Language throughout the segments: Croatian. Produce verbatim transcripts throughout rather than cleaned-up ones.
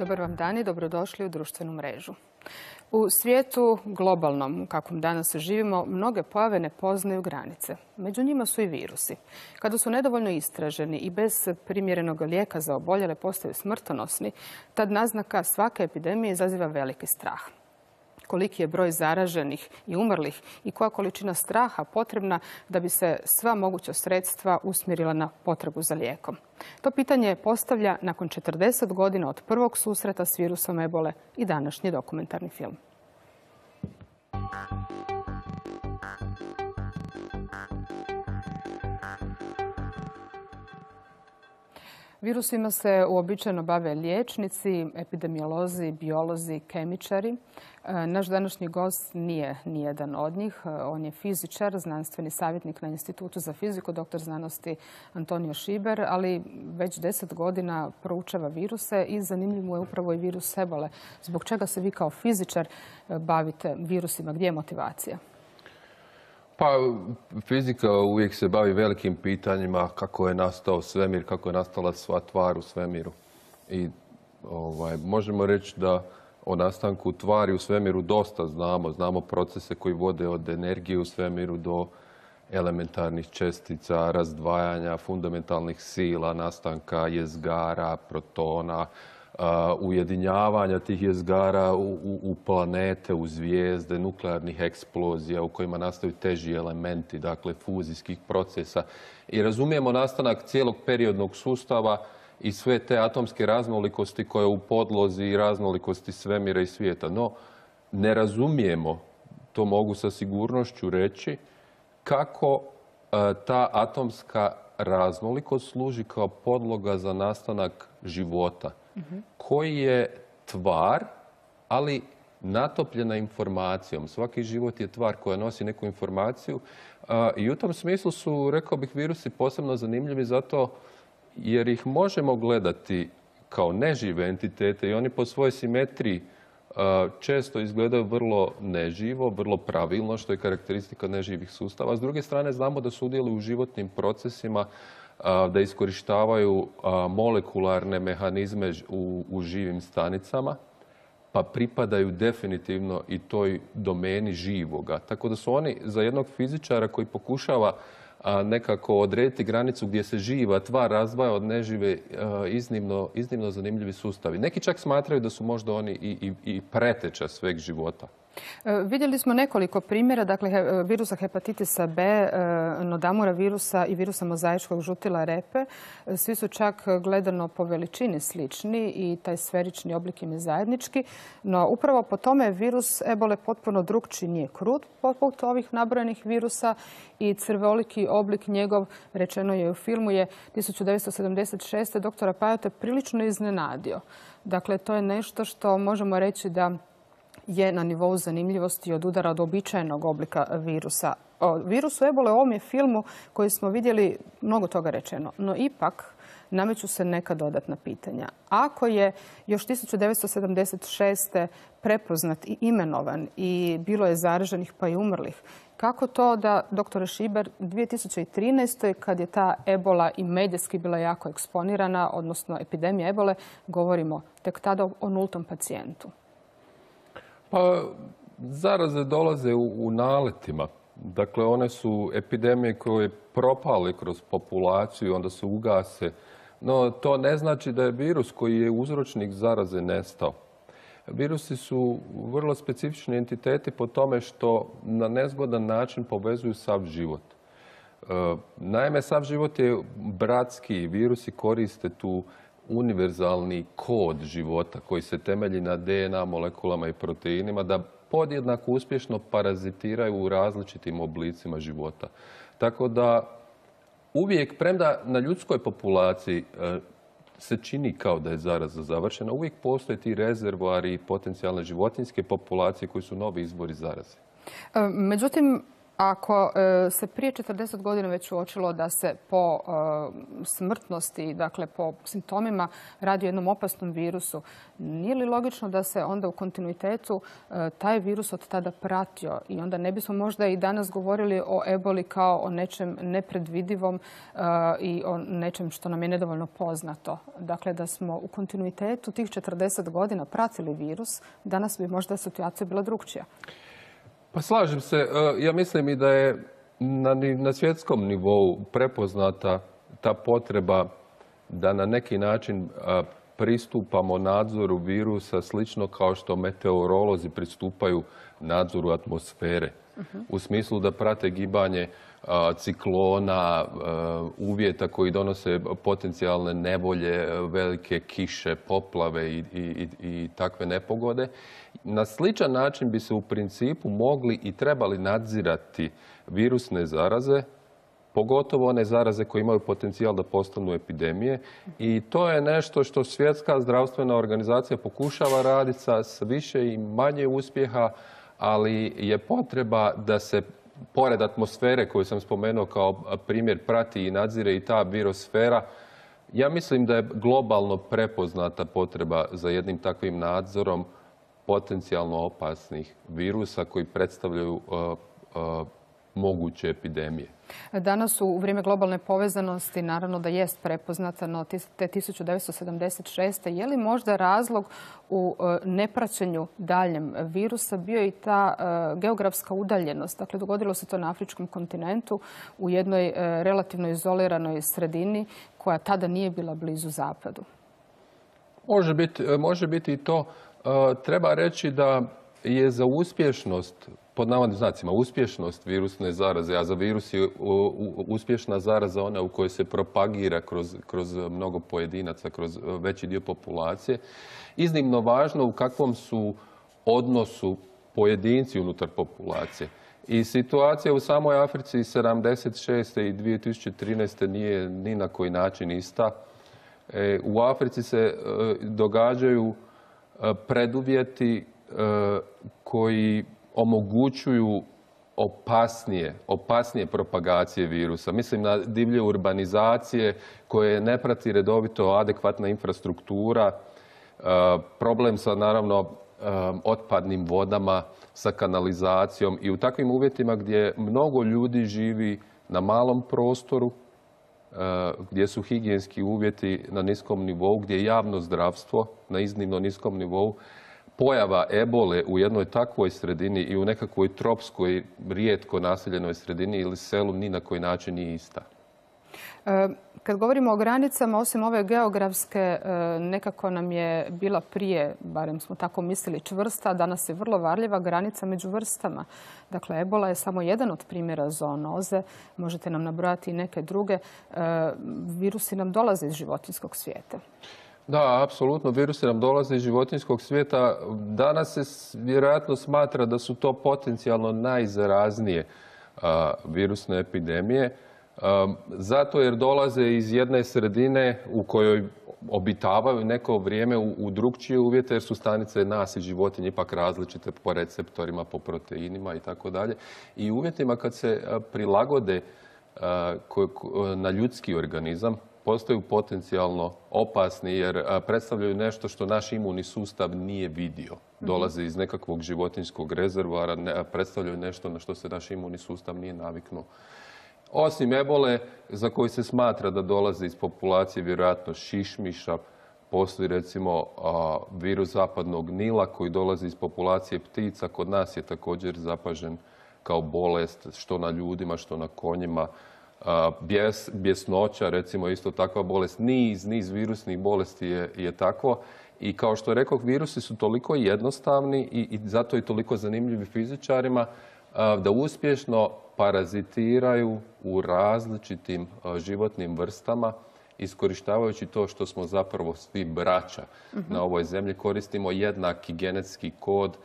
Dobar vam dan i dobrodošli u društvenu mrežu. U svijetu globalnom, u kakvom danas živimo, mnoge pojave ne poznaju granice. Među njima su i virusi. Kada su nedovoljno istraženi i bez primjerenog lijeka za oboljele postaju smrtonosni, tad naznaka svake epidemije izaziva veliki strah. Koliki je broj zaraženih i umrlih i koja količina straha potrebna da bi se sva moguća sredstva usmjerila na potrebu za lijekom. To pitanje postavlja nakon četrdeset godina od prvog susreta s virusom ebole i današnji dokumentarni film. Virusima se uobičajeno bave liječnici, epidemiolozi, biolozi, kemičari. Naš današnji gost nije nijedan od njih. On je fizičar, znanstveni savjetnik na Institutu za fiziku, doktor znanosti Antonio Šiber, ali već deset godina proučava viruse i zanimljiv mu je upravo i virus ebole. Zbog čega se vi kao fizičar bavite virusima? Gdje je motivacija? Pa, fizika uvijek se bavi velikim pitanjima kako je nastao svemir, kako je nastala sva tvar u svemiru. I ovaj, možemo reći da o nastanku tvari u svemiru dosta znamo. Znamo procese koji vode od energije u svemiru do elementarnih čestica, razdvajanja, fundamentalnih sila, nastanka jezgara, protona, Uh, ujedinjavanja tih jezgara u, u, u planete, u zvijezde, nuklearnih eksplozija u kojima nastaju teži elementi, dakle fuzijskih procesa. I razumijemo nastanak cijelog periodnog sustava i sve te atomske raznolikosti koje u podlozi i raznolikosti svemira i svijeta. No, ne razumijemo, to mogu sa sigurnošću reći, kako uh, ta atomska raznolikost služi kao podloga za nastanak života. Koji je tvar, ali natopljena informacijom. Svaki život je tvar koja nosi neku informaciju i u tom smislu su, rekao bih, virusi posebno zanimljivi zato jer ih možemo gledati kao nežive entitete i oni po svojoj simetriji često izgledaju vrlo neživo, vrlo pravilno, što je karakteristika neživih sustava. S druge strane, znamo da sudjeluju u životnim procesima, da iskorištavaju molekularne mehanizme u, u živim stanicama, pa pripadaju definitivno i toj domeni živoga. Tako da su oni za jednog fizičara koji pokušava nekako odrediti granicu gdje se živa tvar razdvaja od nežive iznimno, iznimno zanimljivi sustavi. Neki čak smatraju da su možda oni i, i, i preteča sveg života. Vidjeli smo nekoliko primjera, dakle virusa hepatitisa B, nodamura virusa i virusa mozaičkog žutila repe. Svi su čak gledano po veličini slični i taj sferični oblik im je zajednički. No upravo po tome virus ebole potpuno drukčiji, nije krut poput ovih nabrojenih virusa i crvoliki oblik njegov, rečeno je u filmu, je tisuću devetsto sedamdeset šeste. doktora Pajota prilično iznenadio. Dakle, to je nešto što možemo reći da je na nivou zanimljivosti od udara od običajnog oblika virusa. O virusu ebole u ovom je filmu koji smo vidjeli mnogo toga rečeno, no ipak nameću se neka dodatna pitanja. Ako je još tisuću devetsto sedamdeset šeste prepoznat i imenovan i bilo je zaraženih pa i umrlih, kako to da, doktore Šiber, dvije tisuće trinaeste. kad je ta ebola i medijski bila jako eksponirana, odnosno epidemija ebole, govorimo tek tada o nultom pacijentu? Pa, zaraze dolaze u, u naletima. Dakle, one su epidemije koje propale kroz populaciju, onda se ugase. No, to ne znači da je virus koji je uzročnik zaraze nestao. Virusi su vrlo specifični entiteti po tome što na nezgodan način povezuju sav život. E, naime, sav život je bratski. Virusi koriste tu univerzalni kod života koji se temelji na D N A molekulama i proteinima da podjednako uspješno parazitiraju u različitim oblicima života. Tako da uvijek, premda na ljudskoj populaciji se čini kao da je zaraza završena, uvijek postoje ti rezervoari i potencijalne životinjske populacije koji su novi izvori zaraze. Međutim, Ako se prije četrdeset godina već uočilo da se po smrtnosti, dakle po simptomima radi o jednom opasnom virusu, nije li logično da se onda u kontinuitetu taj virus od tada pratio i onda ne bismo možda i danas govorili o eboli kao o nečem nepredvidivom i o nečem što nam je nedovoljno poznato. Dakle, da smo u kontinuitetu tih četrdeset godina pratili virus, danas bi možda situacija bila drukčija. Pa slažem se. Ja mislim i da je na, na svjetskom nivou prepoznata ta potreba da na neki način pristupamo nadzoru virusa slično kao što meteorolozi pristupaju nadzoru atmosfere. Uh-huh. U smislu da prate gibanje a, ciklona, a, uvjeta koji donose potencijalne nevolje, velike kiše, poplave i, i, i takve nepogode. Na sličan način bi se u principu mogli i trebali nadzirati virusne zaraze, pogotovo one zaraze koje imaju potencijal da postanu epidemije. I to je nešto što Svjetska zdravstvena organizacija pokušava raditi sa više i manje uspjeha, ali je potreba da se, pored atmosfere koju sam spomenuo kao primjer, prati i nadzire i ta virosfera. Ja mislim da je globalno prepoznata potreba za jednim takvim nadzorom potencijalno opasnih virusa koji predstavljaju uh, uh, moguće epidemije. Danas u vrijeme globalne povezanosti naravno da jest prepoznata, no te tisuću devetsto sedamdeset šeste. Je li možda razlog u nepraćenju daljem virusa bio i ta geografska udaljenost? Dakle, dogodilo se to na afričkom kontinentu u jednoj relativno izoliranoj sredini koja tada nije bila blizu zapadu. Može biti, može biti i to. Treba reći da je za uspješnost, pod navodnim znacima, uspješnost virusne zaraze, a za virus je uspješna zaraza ona u kojoj se propagira kroz, kroz mnogo pojedinaca, kroz veći dio populacije, iznimno važno u kakvom su odnosu pojedinci unutar populacije. I situacija u samoj Africi sedamdeset šeste i dvije tisuće trinaeste nije ni na koji način ista. U Africi se događaju preduvjeti koji omogućuju opasnije, opasnije propagacije virusa. Mislim na divlje urbanizacije koje ne prati redovito adekvatna infrastruktura, problem sa naravno otpadnim vodama, sa kanalizacijom i u takvim uvjetima gdje mnogo ljudi živi na malom prostoru, gdje su higijenski uvjeti na niskom nivou, gdje je javno zdravstvo na iznimno niskom nivou, pojava ebole u jednoj takvoj sredini i u nekakvoj tropskoj, rijetko naseljenoj sredini ili selu ni na koji način nije ista. Kad govorimo o granicama, osim ove geografske, nekako nam je bila prije, barem smo tako mislili, čvrsta, danas je vrlo varljiva granica među vrstama. Dakle, ebola je samo jedan od primjera zoonoze. Možete nam nabrojati i neke druge. Virusi nam dolaze iz životinjskog svijeta. Da, apsolutno. Virusi nam dolaze iz životinjskog svijeta. Danas se vjerojatno smatra da su to potencijalno najzaraznije a, virusne epidemije. A, zato jer dolaze iz jedne sredine u kojoj obitavaju neko vrijeme u, u drugčije uvjete, jer su stanice nas i životinje ipak različite po receptorima, po proteinima i tako dalje. I u uvjetima kad se a, prilagode a, ko, ko, na ljudski organizam, postaju potencijalno opasni jer predstavljaju nešto što naš imunni sustav nije vidio. Dolaze iz nekakvog životinjskog rezervoara, ne, predstavljaju nešto na što se naš imunni sustav nije naviknuo. Osim ebole, za koji se smatra da dolaze iz populacije vjerojatno šišmiša, postoji recimo a, virus zapadnog Nila koji dolazi iz populacije ptica. Kod nas je također zapažen kao bolest što na ljudima, što na konjima. Bjes, bjesnoća, recimo isto takva bolest, niz, niz virusnih bolesti je, je takvo. I kao što rekao, virusi su toliko jednostavni i, i zato i toliko zanimljivi fizičarima da uspješno parazitiraju u različitim životnim vrstama, iskorištavajući to što smo zapravo svi braća uh-huh. na ovoj zemlji, koristimo jednaki genetski kod,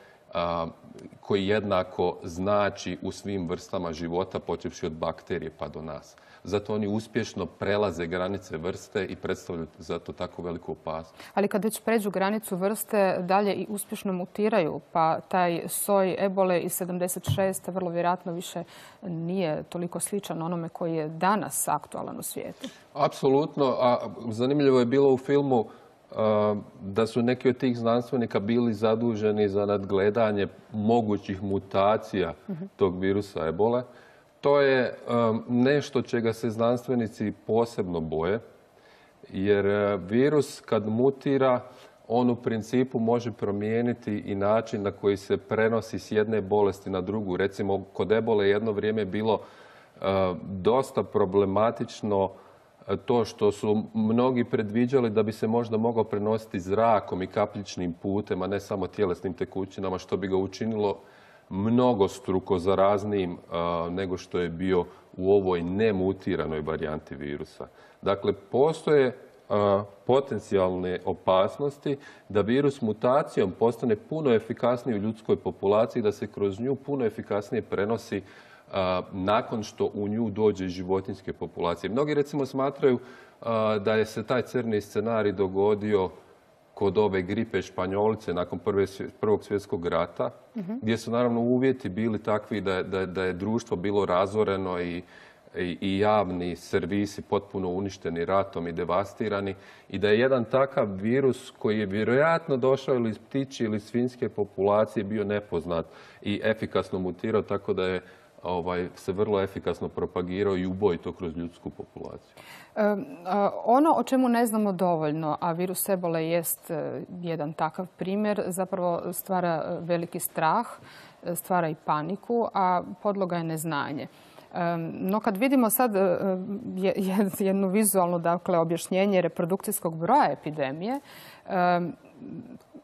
koji jednako znači u svim vrstama života, počevši od bakterije pa do nas. Zato oni uspješno prelaze granice vrste i predstavljaju zato tako veliku opasnost. Ali kad već pređu granicu vrste, dalje i uspješno mutiraju, pa taj soj ebole iz sedamdeset šeste vrlo vjerojatno više nije toliko sličan onome koji je danas aktualan u svijetu. Apsolutno, a zanimljivo je bilo u filmu da su neki od tih znanstvenika bili zaduženi za nadgledanje mogućih mutacija tog virusa ebole. To je nešto čega se znanstvenici posebno boje, jer virus kad mutira, on u principu može promijeniti i način na koji se prenosi s jedne bolesti na drugu. Recimo, kod ebole jedno vrijeme je bilo dosta problematično to što su mnogi predviđali da bi se možda mogao prenositi zrakom i kapljičnim putem, a ne samo tjelesnim tekućinama, što bi ga učinilo mnogostruko zaraznijim nego što je bio u ovoj nemutiranoj varijanti virusa. Dakle, postoje potencijalne opasnosti da virus mutacijom postane puno efikasniji u ljudskoj populaciji, da se kroz nju puno efikasnije prenosi nakon što u nju dođe životinjske populacije. Mnogi recimo smatraju da je se taj crni scenarij dogodio kod ove gripe španjolice nakon Prvog svjetskog rata, gdje su naravno uvjeti bili takvi da, da, da je društvo bilo razoreno i, i, i javni servisi potpuno uništeni ratom i devastirani i da je jedan takav virus koji je vjerojatno došao ili iz ptičje ili svinjske populacije bio nepoznat i efikasno mutirao, tako da je Ovaj, se vrlo efikasno propagirao i ubojito kroz ljudsku populaciju. E, ono o čemu ne znamo dovoljno, a virus ebole jest jedan takav primjer, zapravo stvara veliki strah, stvara i paniku, a podloga je neznanje. No kad vidimo sad jednu vizualnu, dakle, objašnjenje reprodukcijskog broja epidemije,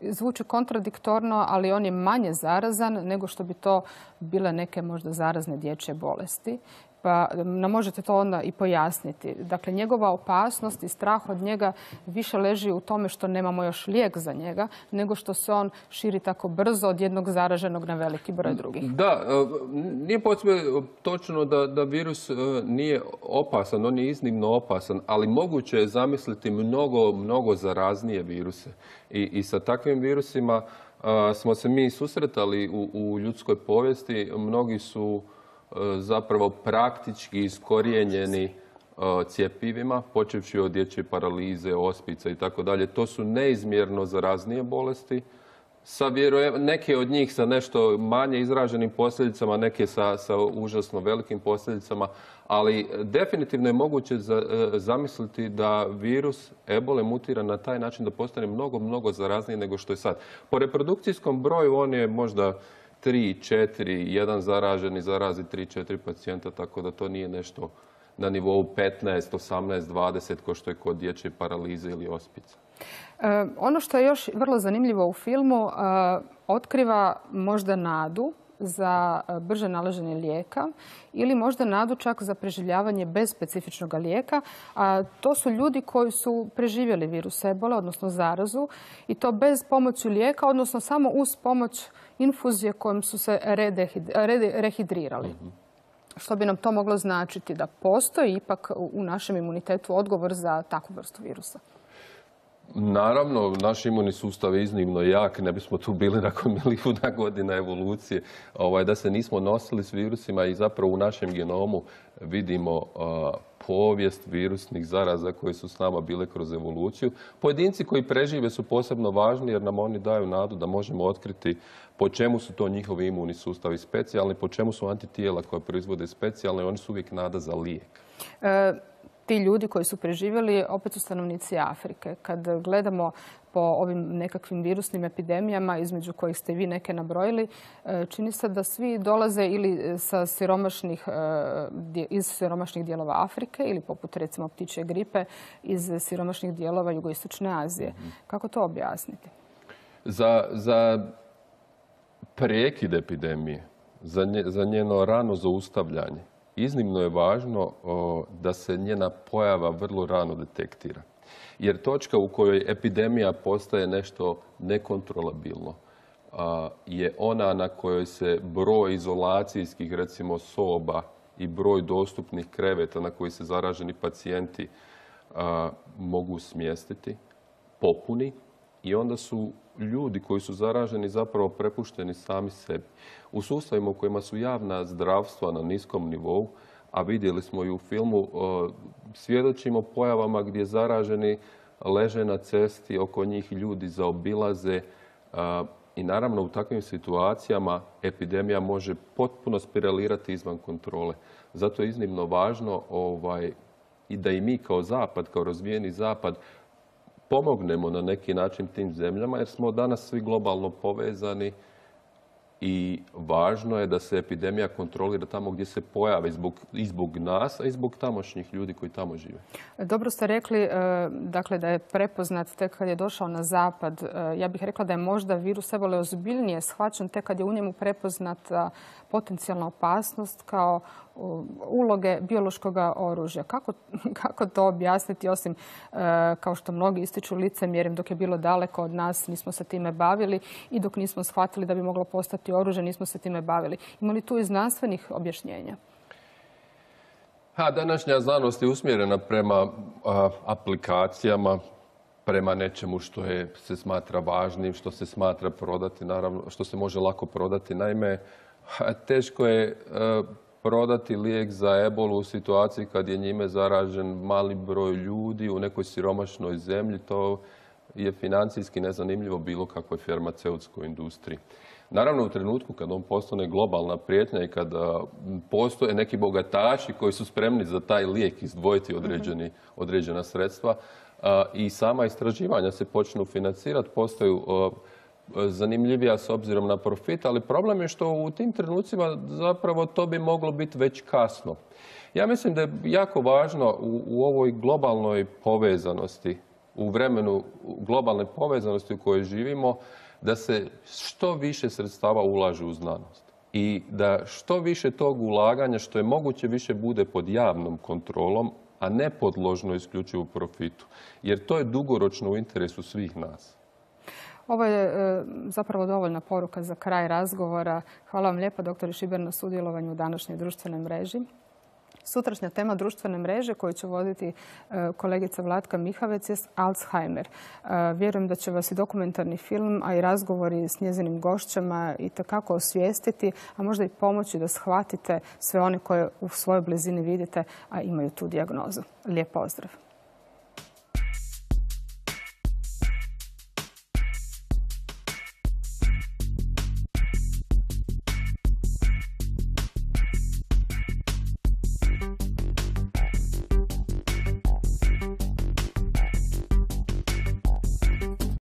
zvuči kontradiktorno, ali on je manje zarazan nego što bi to bile neke možda zarazne dječje bolesti. Pa nam možete to onda i pojasniti. Dakle, njegova opasnost i strah od njega više leži u tome što nemamo još lijek za njega, nego što se on širi tako brzo od jednog zaraženog na veliki broj drugih. Da, nije potpuno točno da, da virus nije opasan, on je iznimno opasan, ali moguće je zamisliti mnogo, mnogo zaraznije viruse. I, i sa takvim virusima a, smo se mi susretali u, u ljudskoj povijesti. Mnogi su zapravo praktički iskorijenjeni cjepivima, počevši od dječje paralize, ospica i tako dalje. To su neizmjerno zaraznije bolesti. Sa neke od njih sa nešto manje izraženim posljedicama, neke sa, sa užasno velikim posljedicama, ali definitivno je moguće za, zamisliti da virus ebole mutira na taj način da postane mnogo, mnogo zarazniji nego što je sad. Po reprodukcijskom broju on je možda tri, četiri, jedan zaraženi zarazi tri, četiri pacijenta, tako da to nije nešto na nivou petnaest, osamnaest, dvadeset, ko što je kod dječje paralize ili ospica. E, ono što je još vrlo zanimljivo u filmu, e, otkriva možda nadu za brže nalaženje lijeka ili možda nadu čak za preživljavanje bez specifičnog lijeka. A to su ljudi koji su preživjeli virus ebole, odnosno zarazu, i to bez pomoći lijeka, odnosno samo uz pomoć infuzije kojom su se rehidrirali. Mm-hmm. Što bi nam to moglo značiti? Da postoji ipak u našem imunitetu odgovor za takvu vrstu virusa? Naravno, naš imunni sustav je iznimno jak, ne bismo tu bili nakon milijuna godina evolucije, ovaj, da se nismo nosili s virusima i zapravo u našem genomu vidimo uh, povijest virusnih zaraza koje su s nama bile kroz evoluciju. Pojedinci koji prežive su posebno važni jer nam oni daju nadu da možemo otkriti po čemu su to njihovi imunni sustavi specijalni, po čemu su antitijela koja proizvode specijalne, oni su uvijek nada za lijek. E... Ti ljudi koji su preživjeli opet su stanovnici Afrike. Kad gledamo po ovim nekakvim virusnim epidemijama, između kojih ste vi neke nabrojili, čini se da svi dolaze ili sa siromašnih, iz siromašnih dijelova Afrike ili poput recimo ptičje gripe iz siromašnih dijelova jugoistočne Azije. Kako to objasniti? Za, za prekid epidemije, za, nje, za njeno rano zaustavljanje, iznimno je važno o, da se njena pojava vrlo rano detektira. Jer točka u kojoj epidemija postaje nešto nekontrolabilno, je ona na kojoj se broj izolacijskih, recimo, soba i broj dostupnih kreveta na koji se zaraženi pacijenti mogu smjestiti, popuni i onda su ljudi koji su zaraženi zapravo prepušteni sami sebi. U sustavima u kojima su javna zdravstva na niskom nivou, a vidjeli smo i u filmu, svjedočimo pojavama gdje zaraženi leže na cesti, oko njih ljudi zaobilaze i naravno u takvim situacijama epidemija može potpuno spiralirati izvan kontrole. Zato je iznimno važno ovaj, i da i mi kao Zapad, kao razvijeni Zapad, pomognemo na neki način tim zemljama jer smo danas svi globalno povezani i važno je da se epidemija kontrolira tamo gdje se pojave zbog, i zbog nas, a i zbog tamošnjih ljudi koji tamo žive. Dobro ste rekli dakle, da je prepoznat tek kad je došao na zapad. Ja bih rekla da je možda virus ebole ozbiljnije shvaćen tek kad je u njemu prepoznata potencijalna opasnost kao uloge biološkog oružja. Kako, kako to objasniti, osim kao što mnogi ističu licemjerjem, dok je bilo daleko od nas, nismo se time bavili i dok nismo shvatili da bi moglo postati oružje, nismo se time bavili. Ima li tu i znanstvenih objašnjenja? Ha, današnja znanost je usmjerena prema a, aplikacijama, prema nečemu što je, se smatra važnim, što se smatra prodati, naravno, što se može lako prodati. Naime, teško je a, prodati lijek za ebolu u situaciji kad je njime zaražen mali broj ljudi u nekoj siromašnoj zemlji. To je financijski nezanimljivo bilo kakvoj farmaceutskoj industriji. Naravno, u trenutku kad on postane globalna prijetnja i kada postoje neki bogataši koji su spremni za taj lijek izdvojiti određeni, određena sredstva i sama istraživanja se počnu financirati, postaju zanimljivija s obzirom na profit, ali problem je što u tim trenucima zapravo to bi moglo biti već kasno. Ja mislim da je jako važno u, u ovoj globalnoj povezanosti, u vremenu globalne povezanosti u kojoj živimo, da se što više sredstava ulaže u znanost i da što više tog ulaganja, što je moguće više, bude pod javnom kontrolom, a ne podložno isključivo profitu. Jer to je dugoročno u interesu svih nas. Ovo je e, zapravo dovoljna poruka za kraj razgovora. Hvala vam lijepo, doktore Šiber, na sudjelovanju u današnjoj društvenoj mreži. Sutrašnja tema društvene mreže koju će voditi kolegica Vlatka Mihavec je Alzheimer. Vjerujem da će vas i dokumentarni film, a i razgovori s njezinim gošćama itekako osvijestiti, a možda i pomoći da shvatite sve one koje u svojoj blizini vidite, a imaju tu dijagnozu. Lijep pozdrav!